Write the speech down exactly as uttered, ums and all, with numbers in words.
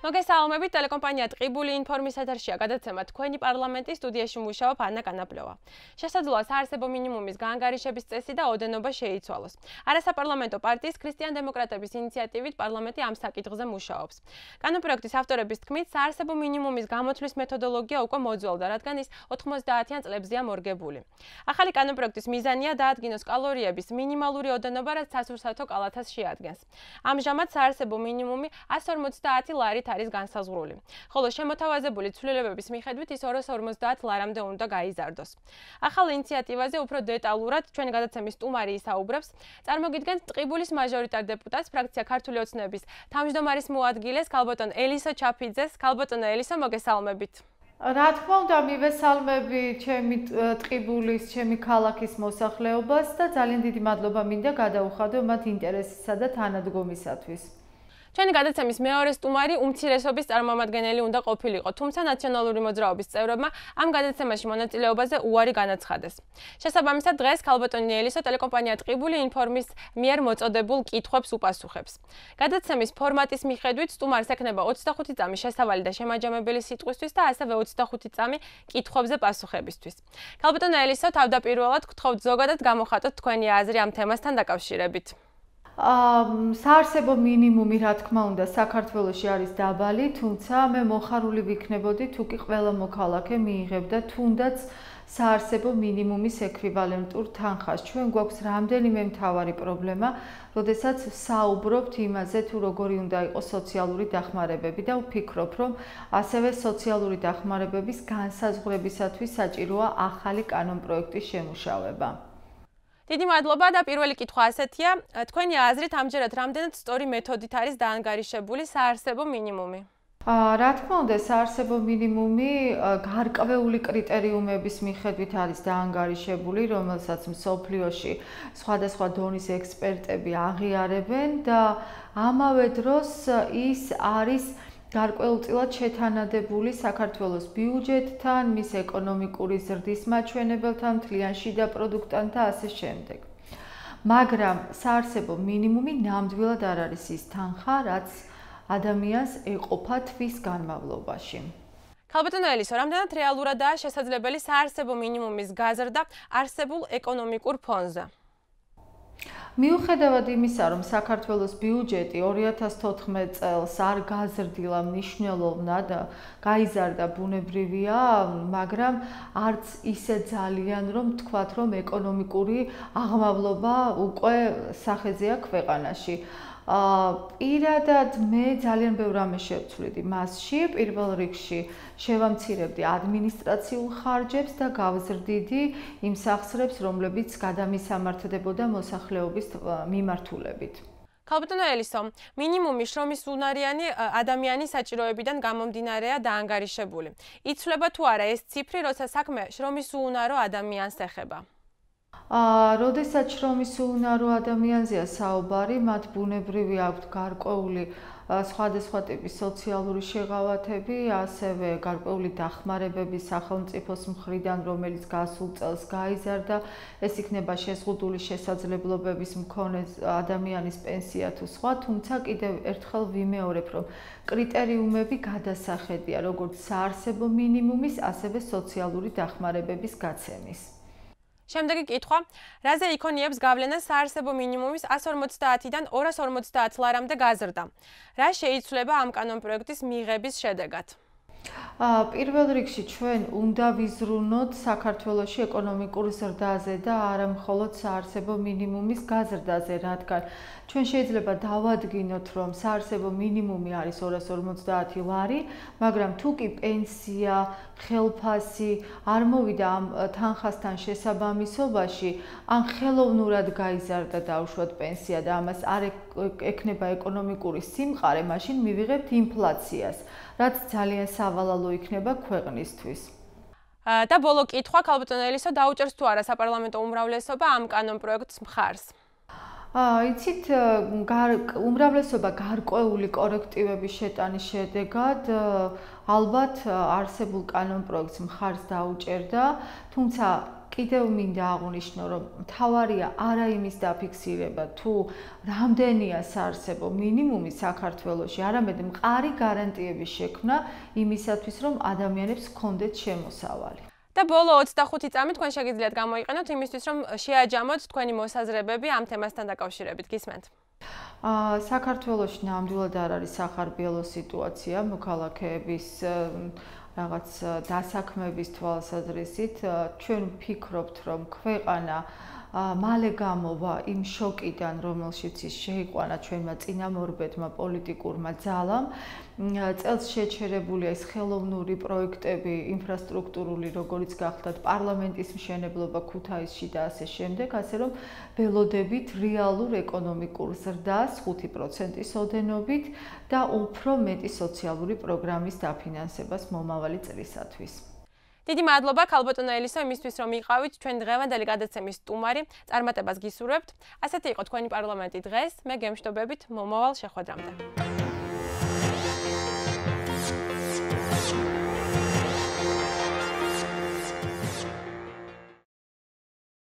მოგესალმებით, ტელეკომპანია ტყიბული ინფორმის ეთერშია გადაცემა თქვენი პარლამენტის სტუდიაში მუშაობ ანა კანაპლევა. შესაძლოა საარსებო მინიმუმის გაანგარიშების წესი და ოდენობა შეიცვალოს. არასაპარლამენტო პარტიის ქრისტიან-დემოკრატების ინიციატივით პარლამენტი ამ საკითხზე მუშაობს. კანონპროექტის ავტორების თქმით, საარსებო მინიმუმის გამოთვლის მეთოდოლოგია უკვე მოძველდა, რადგან ის ოთხმოცდაათიან წლებზეა მორგებული. ახალი კანონპროექტის მიზანია დაადგინოს კალორიების მინიმალური ოდენობა, რაც სასურსათო კალათას შეადგენს. ამჟამად საარსებო მინიმუმი ასი ორმოცდაათი ლარით არის განსაზღვრული. ხოლო შემოთავაზებული ცვლილებების მიხედვით ის ორას ორმოცდაათ ლარამდე უნდა გაიზარდოს. ახალ ინიციატივაზე უფრო დეტალურად ჩვენი გადაცემის სტუმარი ისაუბრებს. წარმოგიდგენთ ტყიბულის მაჟორიტარ დეპუტატს, ფრაქცია ქართული ოცნების თავმჯდომარის მოადგილეს, ქალბატონ ელისო ჩაფიძეს. ქალბატონო ელისო, მოგესალმებით. რა თქმა უნდა, მივესალმები ჩემი ტყიბულის, ჩემი ქალაქის მოსახლეობას და ძალიან დიდი მადლობა მინდა გადაუხადო მათ ინტერესისა და თანადგომისათვის. ჩვენი გადაცემის მეორე სტუმარი უმცირესობის წარმომადგენელი უნდა ყოფილიყო, თუმცა ნაციონალური მოძრაობის წევრებმა ამ გადაცემაში მონაწილეობაზე უარი განაცხადეს. შესაბამისად, დღეს ქალბატონი ელისო ტელეკომპანია ტყიბული ინფორმის მიერ მოწოდებულ კითხვებს უპასუხებს. გადაცემის ფორმატის მიხედვით სტუმარს ექნება ოცდახუთი წამი შესავალი და შემაჯამებელი სიტყვისთვის და ასევე ოცდახუთი წამი კითხვებზე პასუხებისთვის. ქალბატონო ელისო, თავდაპირველად გთხოვთ ზოგადად გამოხატოთ თქვენი აზრი ამ თემასთან დაკავშირებით. საარსებო მინიმუმი, რა თქმა უნდა, საქართველოში არის დაბალი, თუმცა მე მოხარული ვიქნებოდი, თუ კი ყველა მოქალაქე მიიღებდა თუნდაც საარსებო მინიმუმის ექვივალენტურ თანხას. ჩვენ გვაქვს რამდენიმე მთავარი პრობლემა, როდესაც საუბრობთ იმაზე, თუ როგორი უნდა იყოს სოციალური დახმარებები და ვფიქრობ, რომ ასევე სოციალური დახმარებების განსაზღვრებისათვის საჭიროა ახალი კანონპროექტის შემუშავება. დიდი მადლობა და პირველი კითხვა ასეთია, თქვენი აზრით ამჯერად რამდენად სწორი მეთოდით არის დაანგარიშებული საარსებო მინიმუმი? რა თქმა უნდა, საარსებო მინიმუმი გარკვეული კრიტერიუმების მიხედვით არის დაანგარიშებული, რომელსაც მსოფლიოში სხვადასხვა დონის ექსპერტები აღიარებენ და ამავე დროს ის არის გარკვეულწილად შეთანადებული საქართველოს ბიუჯეტთან, მის ეკონომიკური ზრდის მაჩვენებელთან, მთლიან შიდა პროდუქტთან და ასე შემდეგ. მაგრამ საარსებო მინიმუმი ნამდვილად არ არის ის თანხა, რაც ადამიანს ეყოფა თვის განმავლობაში. ქალბატონო ელისო, რამდენად რეალურადაა შესაძლებელი საარსებო მინიმუმის გაზრდა არსებულ ეკონომიკურ ფონზე? მიუხედავად იმისა, რომ საქართველოს ბიუჯეტი ორი ათას თოთხმეტ წელს არ გაზრდილა მნიშვნელოვნად, გაიზარდა ბუნებრივია, მაგრამ არც ისე ძალიან, რომ თქვათ, რომ ეკონომიკური აღმავლობა უკვე სახეზეა ქვეყანაში. პირადად მე ძალიან ბევრ რამეს შევცვლიდი მასში, პირველ რიგში შევამცირებდი ადმინისტრაციულ ხარჯებს და გავზრდიდი იმ სახსრებს, რომლებიც გადამისამართებოდა მოსახლეობის მიმართულებით. ქალბატონო ელისო, მინიმუმი შრომის უნარიანი ადამიანის საჭიროებიდან გამომდინარეა დაანგარიშებული. იცვლება თუ არა ეს ციფრი, როცა საქმე შრომის უუნარო ადამიანს ეხება? როდესაც შრომის უუნარო ადამიანზეა საუბარი, მათ ბუნებრივი აქვთ გარკვეული სხვადასხვა ტიპის სოციალური შეღავათები, ასევე გარკვეული დახმარებები სახელმწიფოს მხრიდან, რომელიც გასულ წელს გაიზარდა, ეს იქნება შეზღუდული შესაძლებლობების მქონე ადამიანის პენსია თუ სხვა, თუმცა კიდევ ერთხელ ვიმეორებ, რომ კრიტერიუმები გადასახედია, როგორც საარსებო მინიმუმის, ასევე სოციალური დახმარებების გაცემის. შემდეგი კითხვა, რაზე იქონიებს გავლენა საარსებო მინიმუმის ასი ორმოცდაათიდან ორას ორმოცდაათ ლარამდე გაზრდა? რა შეიცვლება ამ კანონპროექტის მიღების შედეგად? პირველ რიგში ჩვენ უნდა ვიზრუნოთ საქართველოში ეკონომიკურ ზრდაზე და არა მხოლოდ საარსებო მინიმუმის გაზრდაზე, რადგან ჩვენ შეიძლება დავადგინოთ, რომ საარსებო მინიმუმი არის ორას ორმოცდაათი ლარი, მაგრამ თუ კი პენსია, ხელფასი არ მოვიდა ამ თანხასთან შესაბამისობაში, ან ხელოვნურად გაიზარდა დაუშვათ პენსია და ამას არ ექნება ეკონომიკური სიმყარე, მაშინ მივიღებთ ინფლაციას, რაც ძალიან სავალალო იქნება ქვეყნისთვის. და ბოლო კითხვა, ქალბატონო ელისო, დაუჭერს თუ არა საპარლამენტო უმრავლესობა ამ კანონპროექტს მხარს? იცით, უმრავლესობა გარკვეული კორექტივების შეტანის შედეგად ალბათ არსებულ კანონპროექტს მხარს დაუჭერდა, თუმცა კიდევ მინდა აღვნიშნო, რომ მთავარია არა იმის დაფიქსირება, თუ რამდენია საარსებო მინიმუმი საქართველოში, არამედ მყარი გარანტიების შექმნა იმისათვის, რომ ადამიანებს ჰქონდეთ შემოსავალი. და ბოლო ოცდახუთი წამი თქვენ შეგიძლიათ გამოიყენოთ იმისთვის, რომ შეაჯამოთ თქვენი მოსაზრებები ამ თემასთან დაკავშირებით. გისმენთ? აა საქართველოში ნამდვილად არ არის სახარბიელო სიტუაცია მოქალაქეების რაღაც დასაქმების თვალსაზრისით. ჩვენ ვფიქრობთ, რომ ქვეყანა მალე გამოვა იმ შოკიდან, რომელშიც ის შეიყვანა ჩვენმა წინამორბედმა პოლიტიკურმა ძალამ. წელს შეჩერებულია ეს ხელოვნური პროექტები, ინფრასტრუქტურული, როგორც გახლდათ პარლამენტის მშენებლობა ქუთაისში და ასე შემდეგ, ასე რომ ველოდებით რეალურ ეკონომიკურ ზრდას ხუთი პროცენტის ოდენობით და უფრო მეტი სოციალური პროგრამის დაფინანსებას მომავალი წლისათვის. დიდი მადლობა ქალბატონო ელისო იმისთვის რომ იყავით ჩვენ დღევანდელი გადაცემის სტუმარი. წარმატებას გისურვებთ. ასეთი იყო თქვენი პარლამენტი დღეს. მე გემშვიდობებით მომავალ შეხვედრამდე.